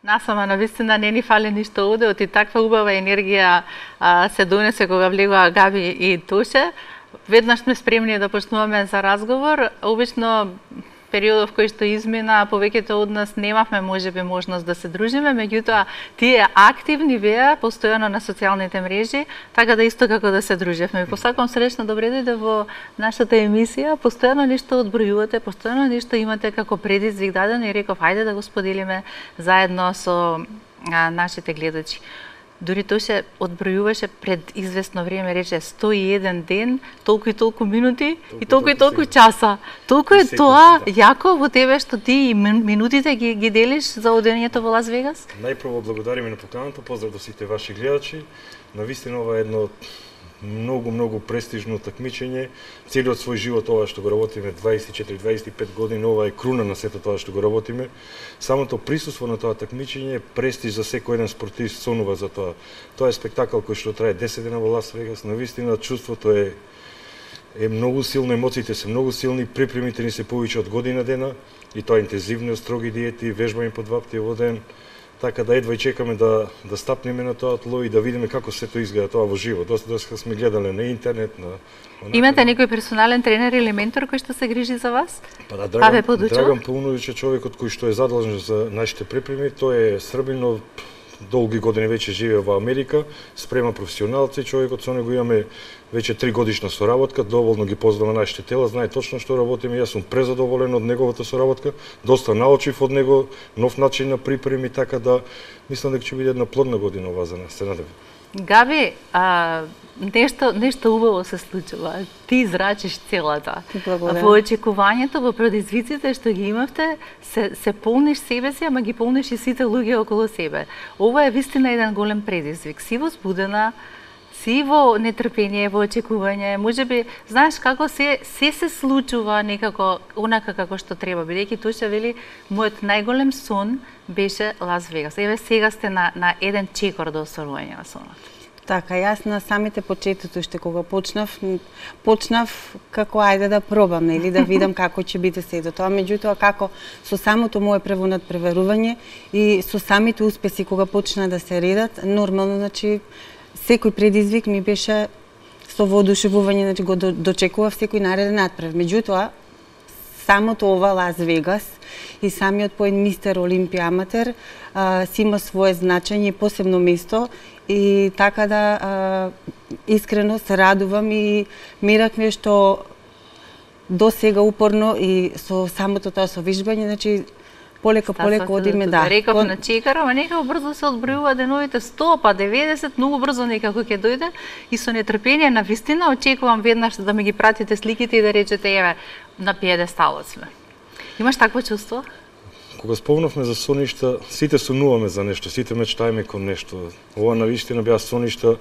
Насама навистина не ни фали ништо овде, оти таква убава енергија се донесе кога влегоа Габи и Тоше. Веднаш сме спремни да почнуваме за разговор. Обично периодов кој што измина, повеќето од нас немавме можеби можност да се дружиме, меѓутоа тие активни беа постојано на социјалните мрежи, така да исто како да се дружевме. Посакувам среќна добре дојде во нашата емисија, постојано нешто одбројувате, постојано нешто имате како предизвик дадено и реков ајде да го споделиме заедно со нашите гледачи. Дури Тоше одбројуваше пред известно време, рече 101 ден, толку и толку минути и толку часа. Толку е тоа јако во тебе што ти и минутите ги делиш за одењето во Лас Вегас? Најпрво благодариме на поканата, поздрав до сите ваши гледачи. Навистина ова е едно многу престижно такмичење. Целиот свој живот ова што го работиме 24-25 години, ова е круна на сето тоа што го работиме. Самото присуство на тоа такмичење е престиж за секој еден спортист, сонува за тоа. Тоа е спектакл кој што трае 10 дена во Лас Вегас. Навистина чувството е многу силно, емоциите се многу силни, припремите ни се повеќе од година дена и тоа интензивни, строги диети, вежбање по 2 пати во ден. Така да едва и чекаме да стапнеме на тоа тло и да видиме како сето изгледа тоа во живо. Доста сме гледале на интернет, Имате некој персонален тренер или ментор кој што се грижи за вас? Па да, Драган Пауновиќ е човекот кој што е задолжен за нашите припреми. Тој е Србин, но долги години веќе живее во Америка, спрема професионалци, човекот со него имаме веќе 3 годишна соработка, доволно ги познава нашите тела, знае точно што работиме, јас сум презадоволен од неговата соработка, доста научив од него, нов начин на припреми, така да мислам дека ќе биде една плодна година ова за нас, се надевам. Габи, нешто убаво се случува. Ти израчиш целата. Во очекувањето, во предизвиците што ги имавте, се полниш себе си, ама ги полниш и сите луѓе околу себе. Ова е вистина еден голем предизвик. Си возбудена, си во нетрпение, во очекување. Можеби, знаеш како се случува некако онака како што треба. Бидејќи Тоше вели, мојот најголем сон беше Лас Вегас. Еве сега сте на еден чекор до остварување на сонот. Така, јас на самите почетоци уште кога почнав како ајде да пробам, или да видам како ќе биде сето тоа, меѓутоа како со самото мое прво надпреварување и со самите успеси кога почна да се редат, нормално, значи секој предизвик ми беше со воодушевување, значи го дочекував секој нареден надпрев. Меѓутоа, самото ова Лас Вегас и самиот поен Мистер Олимпија Аматер си има свое значење и посебно место и така да искрено се радувам и миракме што до сега упорно и со самото тоа со вежбање, значи полека одиме, да. Реков на чекар, ама некако брзо се одбројува деновите 100, па 90, многу брзо некако ќе дојде и со нетрпение на вистина очекувам веднаш да ми ги пратите сликите и да речете еве на пиедесталот сме. Имаш такво чувство? Кога спомнавме за соништа, сите сонуваме за нешто, сите мечтаеме кон нешто. Ова навистина беа соништа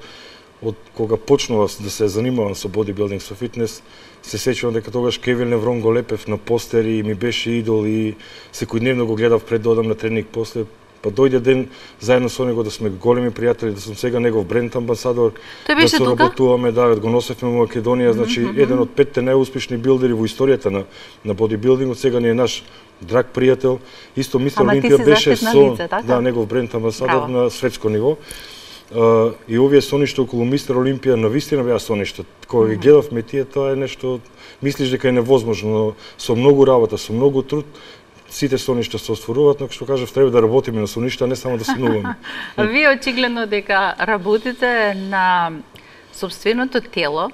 од кога почнував да се занимавам со бодибилдинг, со фитнес, се сеќавам дека тогаш Кевин Леврон го лепев на постери и ми беше идол и секојдневно го гледав пред да одам на тренинг после. Па дојде ден заедно со него да сме големи пријатели, да сум сега негов бренд амбасадор, да соработуваме, да го носевме во Македонија, значи еден од 5 најуспешни билдери во историјата на бодибилдингот, сега ни е наш драг пријател. Исто Мистер Олимпија беше со негов бренд амбасадор на светско ниво. И овие соништа околу Мистер Олимпија навистина беа соништа. Кога ги гледавме тие, тоа е нешто, мислиш дека е невозможно, но со многу работа, со многу труд, сите соништа се остваруваат, но што кажав, треба да работиме на соништа, а не само да сонуваме. Вие очигледно дека работите на сопственото тело,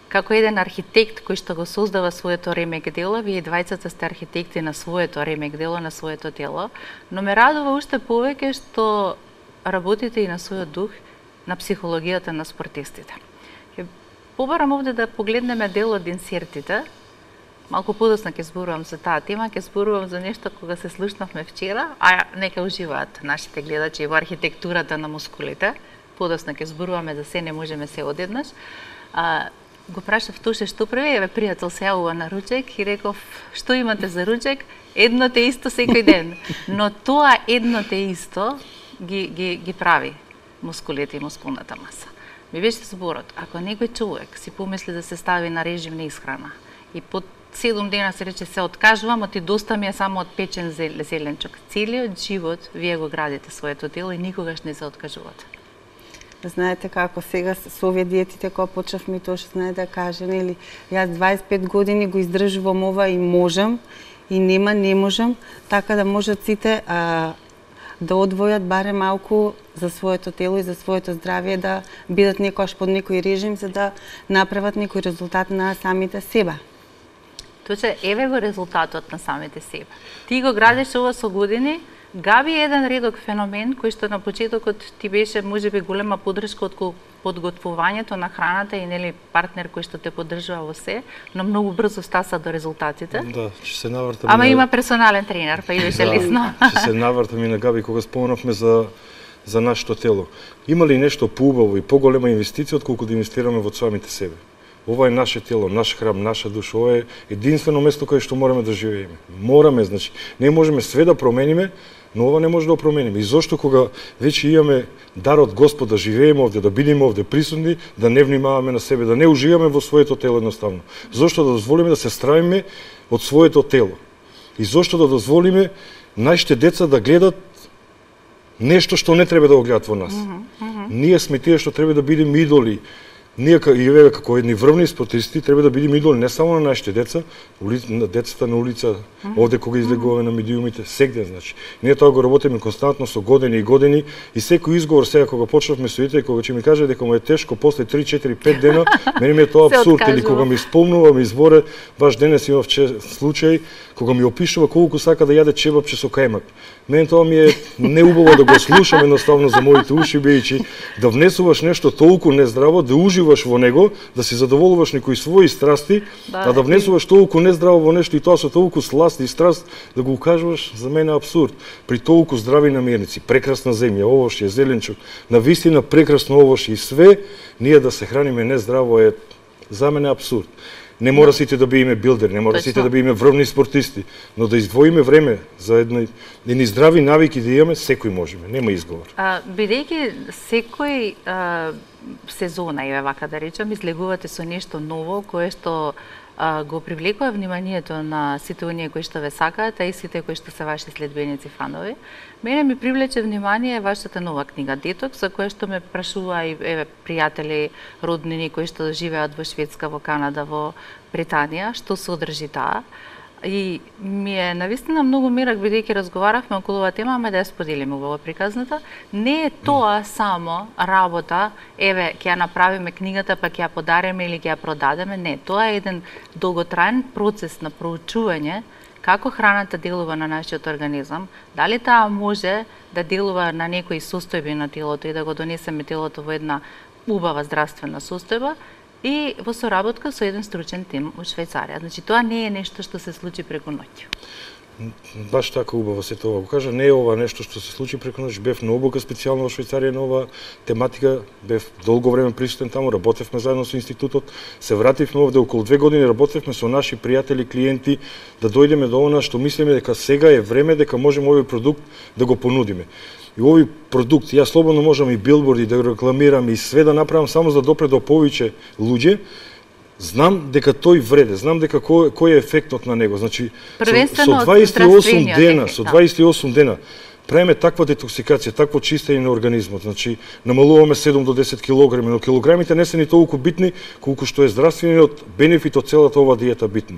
како еден архитект кој што го создава своето ремек дело, вие двајцата сте архитекти на своето ремек дело, на своето тело, но ме радува уште повеќе што работите и на својот дух, на психологијата на спортистите. Побарам овде да погледнеме дел од инсертите. Малку подоцна ќе зборувам за таа тема, ќе зборувам за нешто кога се слушнавме вчера, а нека уживаат нашите гледачи во архитектурата на мускулите. Подоцна ќе зборуваме за се, не можеме се одеднаш. Го прашав Тоше што прави, еве пријател се јавува на ручек и реков што имате за ручек? Едно те исто секој ден. Но тоа едно те исто ги прави мускулите и мускулната маса. Ми беше зборот, ако некој човек си помисли да се стави на режим на исхрана и под 7 дена се рече се откажувам, а ти доста ми е само од печен зеленчук. Целиот живот вие го градите своето тело и никогаш не се откажувате. Знаете како сега со овие диетите кога почнавме тоа што знае да каже, нели, јас 25 години го издржувам ова и можам и не можам, така да можат сите да одвојат баре малку за своето тело и за своето здравје, да бидат некојаш под некој режим за да направат некој резултат на самите себе. Точно, еве го резултатот на самите себе. Ти го градиш ова со години. Габи е еден редок феномен кој што на почетокот ти беше можеби голема поддршка од подготвувањето на храната и нели партнер кој што те поддржува во се, но многу брзо стаса до резултатите. Да, ќе се навртам. Ама има персонален тренер, па идеше лесно. Ќе се навртам и на Габи кога спомнавме за нашето тело. Има ли нешто поубаво и поголема инвестиција отколку да инвестираме во самите себе? Ова е наше тело, наш храм, наша душа, ова е единствено место каде што мораме да живееме. Мораме, значи, не можеме све да промениме, но ова не може да промениме. И зошто кога веќе имаме дар од Господ да живееме овде, да бидеме овде присутни, да не внимаваме на себе, да не уживаме во своето тело едноставно. Зошто да дозволиме да се стравиме од своето тело? И зошто да дозволиме нашите деца да гледат нешто што не треба да го гледат во нас? Ние сме тие што треба да бидеме идоли. Ние како едни врвни спортисти треба да бидеме идоли не само на нашите деца, на децата на улица, овде кога излегуваме на медиумите, сегде, значи. Ние тоа го работиме константно со години и години и секој изговор сега кога почнавме со ите, кога ќе ми каже дека му е тешко после 3, 4, 5 дена, мене ми е тоа апсурд, или кога ми спомнува, ми изборе, баш денес имав случај кога ми опишува колку сака да јаде чевапче со кајмак. Мене тоа ми е неубаво да го слушам едноставно за моите уши, бидејќи да внесуваш нешто толку нездраво, да уживаш во него, да си задоволуваш некои своји страсти, а да внесуваш толку нездраво во нешто и тоа со толку сласт и страст, да го укажуваш, за мене е апсурд. При толку здрави намирници, прекрасна земја, овошје, зеленчук, навистина прекрасно овошје и све, ние да се храниме нездраво е за мене апсурд. Не мора сите да биеме билдери, не мора сите да биеме врвни спортисти, но да издвоиме време за едни здрави навики да имаме, секој можеме, нема изговор. Бидејќи секој сезона, еве вака да речам, излегувате со нешто ново кое што го привлекува вниманието на сите оние кои што ве сакаат, а и сите кои што се ваши следбеници, фанови. Мене ми привлече внимание вашата нова книга Детокс, за која што ме прашува и еве пријатели, роднини кои што живеат во Шведска, во Канада, во Британија, што содржи таа. И ми е навистина многу мирак, бидејќи разговаравме околу оваа тема, ама да ја споделиме во приказната. Не е тоа само работа, еве, ќе ја направиме книгата, па ќе ја подариме или ќе ја продадеме. Не, тоа е еден долготраен процес на проучување како храната делува на нашиот организам, дали таа може да делува на некои состојби на телото и да го донесеме телото во една убава здравствена состојба, и во соработка со еден стручен тим од Швајцарија. Значи, тоа не е нешто што се случи преку ноќ. Баш така убаво се тоа го кажа. Не е ова нешто што се случи преку ноќ. Бев на обука специјално во Швајцарија на ова тематика. Бев долго време присутен таму, работевме заедно со институтот. Се вративме овде околу 2 години, работевме со наши пријатели, клиенти, да дојдеме до она што мислиме дека сега е време дека можеме овој продукт да го понудиме. И овој продукт, јас слободно можам и билборди да го рекламирам и све да направам само за да допре до повеќе луѓе. Знам дека тој вреде, знам дека кој е ефектот на него. Значи, со 28 дена правиме таква детоксикација, такво чистење на организмот. Значи, намалуваме 7 до 10 килограми, но килограмите не се ни толку битни колку што е здравствениот бенефит од целата оваа диета битна.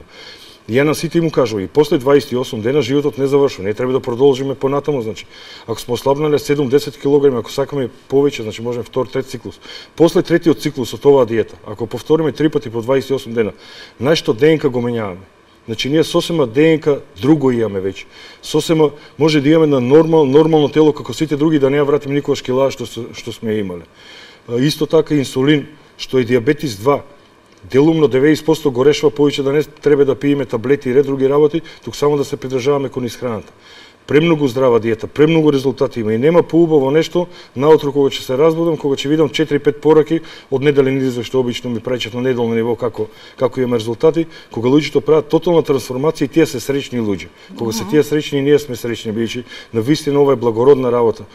Ја на сите му кажува, и после 28 дена животот не завршува, не треба да продолжиме понатаму, значи. Ако сме ослабнале 7-10 килограми, ако сакаме повеќе, значи можеме втор, трет циклус. После третиот циклус од оваа диета, ако повториме 3 пати по 28 дена, нашето ДНК го менјаваме. Значи ние сосема ДНК друго имаме веќе. Сосема може да имаме на нормално тело како сите други, да не ја вратиме никогаш килаа што сме имале. Исто така инсулин, што е диабетис 2, делумно 90% го решава, повеќе да не треба да пиеме таблети и ред други работи, тук само да се придржаваме кон исхраната. Премногу здрава диета, премногу резултати има и нема поубаво нешто наутро кога ќе се разбудам, кога ќе видам 4-5 пораки од неделен извештај што обично ми праќат на неделно ниво како имаме резултати, кога луѓето прават тотална трансформација и тие се среќни луѓе. Кога се тие среќни, ние сме среќни, бидејќи навистина ова е благородна работа.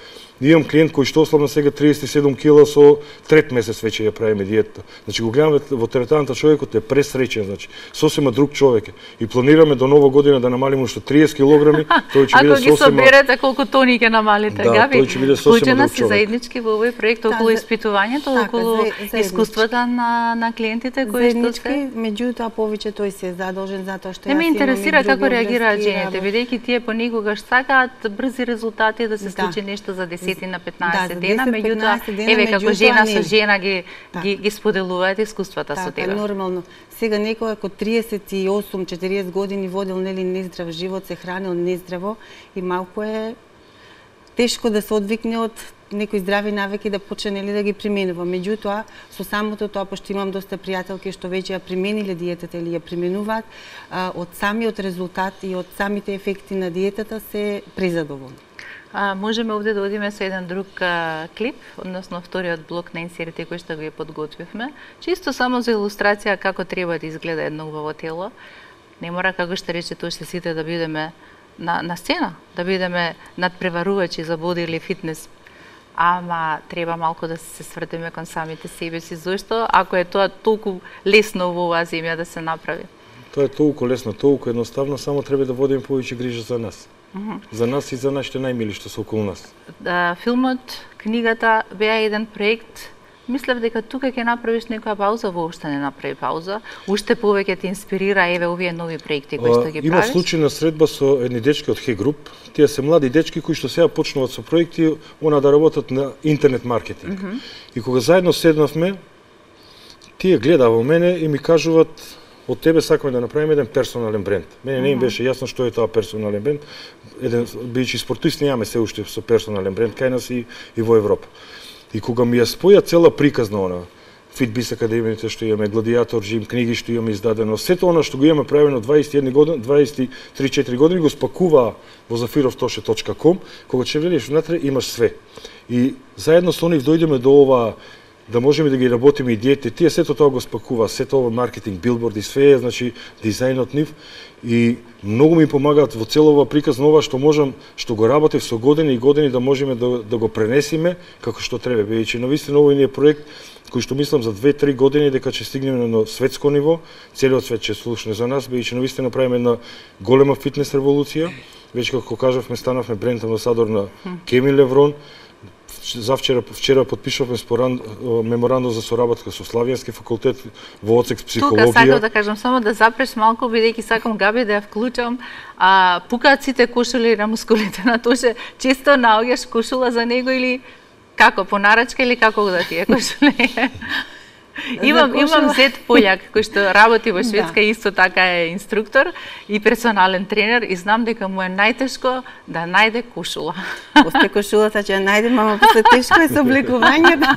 Имам клиент кој што ослабна сега 37 кила со трет месец веќе ја правиме диетата. Значи го гледаме во теретаната човекот е пресреќен, значи сосема друг човек е. И планираме до нова година да намалиме уште 30 килограми, тој ќе биде сосема. Ако ги соберете колку тони ќе намалите, да, Габи? Тој ќе биде сосема друг човек. Заеднички во овој проект околу испитувањето, околу искуствата на клиентите кои што се. Меѓутоа повеќе тој се е задолжен затоа што Не ме интересира како реагираат жените, бидејќи тие понекогаш сакаат брзи резултати да се случи нешто за 10 на 15 дена, меѓутоа еве како жена со жена ги споделуваат искуствата со тебе. Така, нормално. Сега некој ако 38-40 години водел нели нездрав живот, се хранел нездраво и малку е тешко да се одвикне од некои здрави навики да почне нели да ги применува. Меѓутоа, со самото тоа, пошто имам доста пријателки што веќе ја примениле диетата или ја применуваат, од самиот резултат и од самите ефекти на диетата се презадоволни. Можеме овде да одиме со еден друг клип, односно вториот блок на инсерите кој што го подготвивме, чисто само за илустрација како треба да изгледа едно убаво тело. Не мора, како што рече Тоше, сите да бидеме на сцена, да бидеме надпреварувачи за боди или фитнес, ама треба малку да се свртиме кон самите себе си. Зошто? Ако е тоа толку лесно во оваа земја да се направи? Тоа е толку лесно, толку едноставно, само треба да водиме повеќе грижа за нас. За нас и за нашите најмили што се околу нас. Филмот, книгата беа еден проект. Мислев дека тука ќе направиш некоја пауза, воопшто не направи пауза. Уште повеќе те инспирира еве овие нови проекти кои што ги правиш. Има случајна средба со едни дечки од Хе Груп. Тие се млади дечки кои што сега почнуваат со проекти, да работат на интернет маркетинг. И кога заедно седнавме, тие глеdaa во мене и ми кажуваат: од тебе сакаме да направиме еден персонален бренд. Мене не им беше јасно што е тоа персонален бренд. Бидејќи спортисти немаме се уште со персонален бренд кај нас и во Европа. И кога ми ја споја цела приказна она, Фитбис академиите што имаме, Гладиатор Джим, книги што имаме издадено, сето она што го имаме правено 21 години, 23-4 години го спакуваа во zafirovtoshe.com, кога ќе влезеш внатре имаш све. И заедно со нив дојдеме до ова да можеме да ги работиме идеите, тие сето тоа го спакува, сето ова маркетинг, билборди, све е, значи дизајнот нив и многу ми помагаат во целова приказна ова што можам, што го работев со години и години да можеме да го пренесиме како што треба. Бидејќи навистина овој ни е проект кој што мислам за 2-3 години дека ќе стигнеме на светско ниво, целиот свет ќе слушне за нас, бидејќи навистина правиме една голема фитнес револуција. Веќе како кажавме, станавме бренд амбасадор на Кеми Леврон. Вчера подпишавме меморандум за соработка со Славјански факултет во одсек психологија. Тука сакам да кажам само да запреш малку, бидејќи сакам Габи да ја вклучам. Пукаат сите кошули на мускулите на Тоше. Често наоѓаш кошула за него или како по нарачка или како да ти е кошуле? Имам зет пољак кој што работи во Шведска, исто така е инструктор и персонален тренер и знам дека му е најтешко да најде кошула. После кошулата ќе ја најдем, ама после тешко е со облекувањето.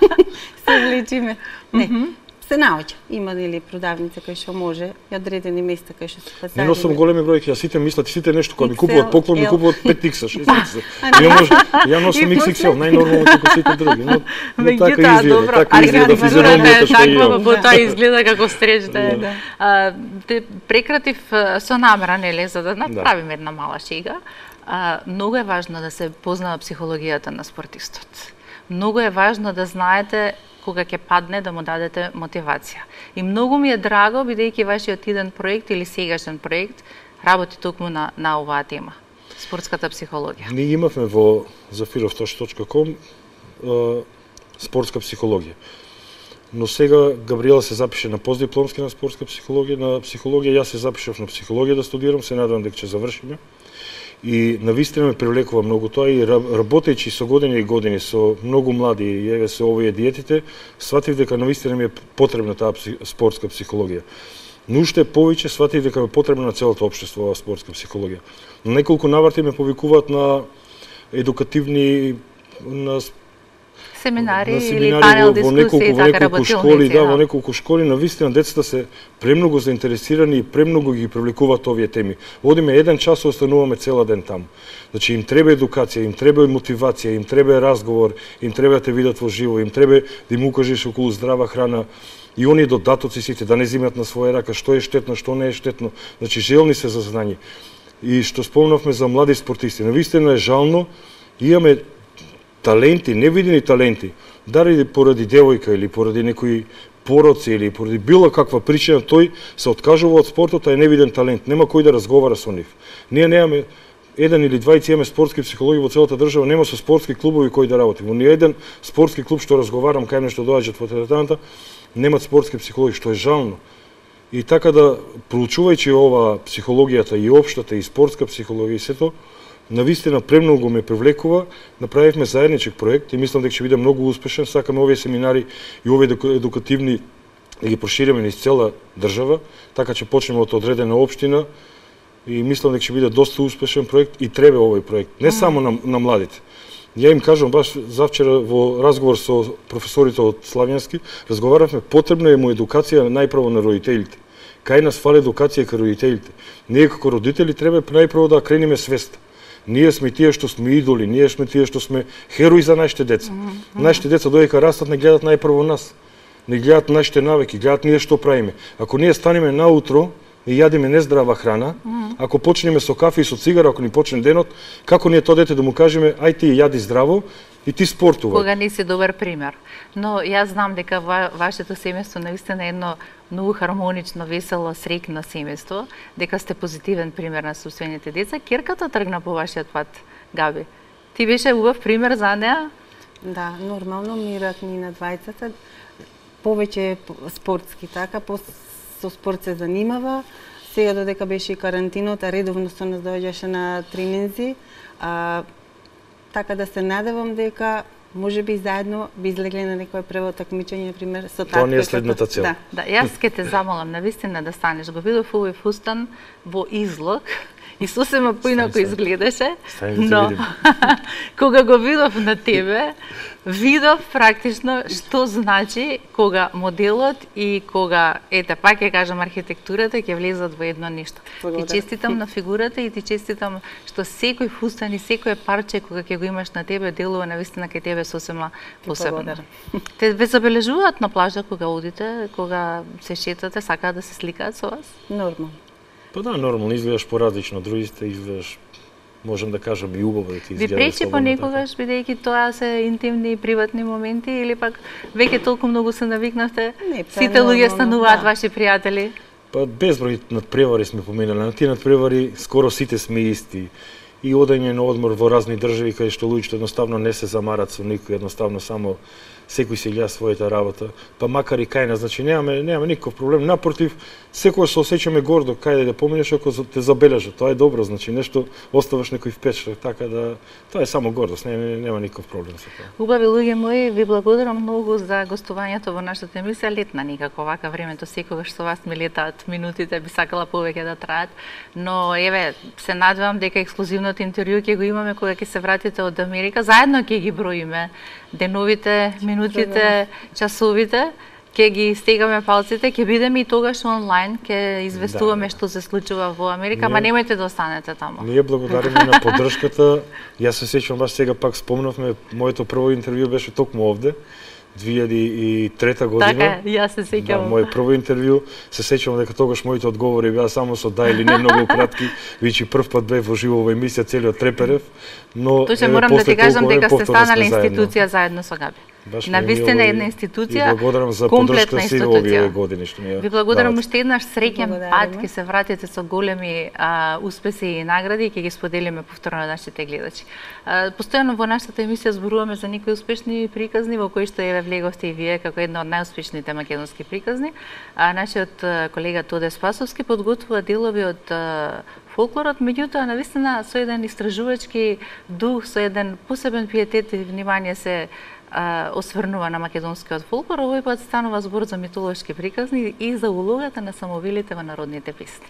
Се облечиме. Не. Се наоѓа. Има нели продавница кој што може и одредени места кој што се пазари. Не носам големи бројки, а сите мислат, сите нешто кога ми купуваат поклон, ми купуваат 5X, 6X. Ја носам XXL, најнормално како сите други, но така изгледа, така изгледа физиономијата што имам. По тоа изгледа како стреч да. Те прекратив со намера, нели, за да направиме една мала шега. Многу е важно да се познава психологијата на спортистот. Многу е важно да знаете кога ќе падне да му дадете мотивација. И многу ми е драго, бидејќи вашиот иден проект или сегашен проект работи токму на оваа тема, спортската психологија. Ние имавме во zafirovtoshe.com спортска психологија. Но сега Габриела се запише на постдипломски на спортска психологија, јас се запишав на психологија да студирам, се надевам дека ќе завршиме. И навистина ме привлекува многу тоа и работејќи со години и години со многу млади и еве со овие диетите, сватив дека навистина ми е потребна таа спортска психологија. Но уште повеќе сватив дека е потребна на целото општество оваа спортска психологија. На неколку наврати ме повикуваат на едукативни семинари или панел дискусии, така работилници. Во неколку школи, навистина децата се премногу заинтересирани и премногу ги привлекуваат овие теми. Одиме еден час, остануваме цела ден таму. Значи им треба едукација, им треба мотивација, им треба разговор, им треба да те видат во живо, им треба да им укажеш околу здрава храна. И оние додатоци сите да не земат на своја рака што е штетно, што не е штетно. Значи желни се за знање. И што спомнавме за млади спортисти, навистина е жално, имаме таленти, невидени таленти, дали поради девојка или поради некои пороци или поради било каква причина, тој се откажува од спортот, а е невиден талент. Нема кој да разговара со нив. Ние немаме еден или двајца имаме спортски психологи во целата држава, нема со спортски клубови кои да работи. Во ни еден спортски клуб што разговарам кај нешто доаѓаат во теретаната, немат спортски психологи, што е жално. И така да, проучувајќи ова психологијата и општата и спортска психологија и сето, навистина премногу ме привлекува, направивме заедничек проект и мислам дека ќе биде многу успешен. Сакаме овие семинари и овие едукативни да ги прошириме низ цела држава, така ќе почнеме од одредена општина и мислам дека ќе биде доста успешен проект и треба овој проект, не само на младите. Ја им кажам баш завчера во разговор со професорите од Славјански, разговаравме потребна е му едукација најпрво на родителите. Кај нас фали едукација кај родителите. Ние како родители треба најпрво да крениме свест. Ние сме тие што сме идоли, ние сме тие што сме херои за нашите деца. Нашите деца додека растат не гледат најпрво нас. Не гледат нашите навики, гледат ние што правиме. Ако ние станеме наутро и јадиме нездрава храна, ако почнеме со кафе и со цигара, ако ни почне денот, како ние тоа дете да му кажеме ај ти јади здраво и ти спортувај. Кога не си добар пример. Но јас знам дека вашето семејство наистина е едно многу хармонично, весело, среќно семејство, дека сте позитивен пример на собствените деца. Ќерката тргна по вашиот пат, Габи. Ти беше убав пример за неа? Да, нормално мират ни на двајцата, повеќе спортски, така, со спорт се занимава. Сега додека беше и карантината, редовно со нас доаѓаше на тренинзи. Така да се надевам дека можеби заедно би излегле на некој прво такмичење, например, со татко. Тоа не е следната цел. Да, јас ке те замолам навистина да станеш. Го видов овој фустан во излог и сосема поинако изгледаше, но кога го видов на тебе, видов практично што значи кога моделот и кога, ете, пак ќе кажам, архитектурата ќе влезат во едно нешто. Ти честитам на фигурата и ти честитам што секој фустан и секое парче кога ќе го имаш на тебе делува навистина кај тебе сосема посебно. Те ве забележуваат на плажа кога одите, кога се шетате, сакаат да се сликаат со вас? Нормално. Па да, нормално, изгледаш поразлично, другите изгледаш, можем да кажем, и убаво да ти изгледа. Ви пречи понекогаш, бидејќи тоа се интимни и приватни моменти, или пак веќе толку многу се навикнавте, сите луѓе стануваат ваши пријатели? Па безброј надпревари сме поминали, на тие надпревари скоро сите сме исти. И одење на одмор во разни држави кај што луѓето едноставно не се замарат со никој, едноставно само секој си гледа својата работа. Па макар и кај нас, значи немаме никаков проблем. Напротив, секој се осеќаме гордо кај да поминеш ако те забележат. Тоа е добро, значи нешто оставаш некој впечатлен, така да тоа е само гордост, нема никаков проблем со тоа. Убави луѓе мои, ви благодарам многу за гостувањето во нашата емисија. Летна никако вака времето секогаш со вас ми летаат минутите, би сакала повеќе да траат, но еве се надевам дека ексклузивното интервју ќе го имаме кога ќе се вратите од Америка. Заедно ќе ги броиме деновите, минутите, часовите, ќе ги стегаме палците, ќе бидеме и тогаш онлайн, ќе известуваме што се случува во Америка, ама немојте да останете таму. Ние благодариме на поддршката. Јас се сеќавам, баш сега пак спомнавме, моето прво интервју беше токму овде, 2003 година. Така, јас се сеќавам. Да, мој прво интервју, се сеќавам дека тогаш моите одговори беа само со да или не многу кратки, веќе прв пат бев во живо во емисија, целиот треперев, но Точно морам да ти кажам дека сте станале институција заедно со Габи. Навистина една институција, комплетна институција. Ви благодарам уште еднаш, среќен пат, ќе се вратите со големи успеси и награди и ќе ги споделиме повторно на нашите гледачи. Постојано во нашата емисија зборуваме за некои успешни приказни во кои што влеговте и вие како една од најуспешните македонски приказни. Нашиот колега Тоде Спасовски подготвува делови од фолклорот, меѓутоа навистина со еден истражувачки дух, со еден посебен пиетет и внимание се осврнува на македонскиот фолклор. Овој пат станува збор за митолошки приказни и за улогата на самовилите во народните песни.